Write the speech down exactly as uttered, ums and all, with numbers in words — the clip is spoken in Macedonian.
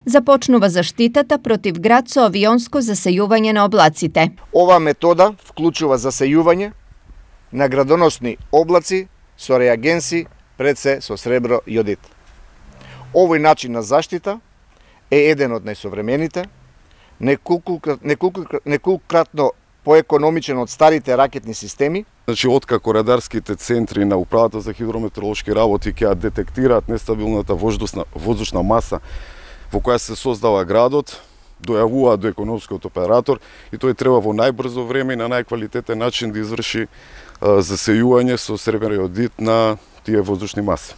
Започнува заштитата против град со авионско засејување на облаците. Ова метода вклучува засејување на градоносни облаци со реагенси, пред се со сребро јодит. Овој начин на заштита е еден од најсовремените, неколкократно поекономичен од старите ракетни системи. Значи, откако радарските центри на Управата за хидрометеоролошки работи ќе детектираат нестабилната воздушна, воздушна маса во која се создава градот, дојавуваат до економскиот оператор и тој треба во најбрзо време и на најквалитетен начин да изврши засејување со сребро јодит на тие воздушни маси.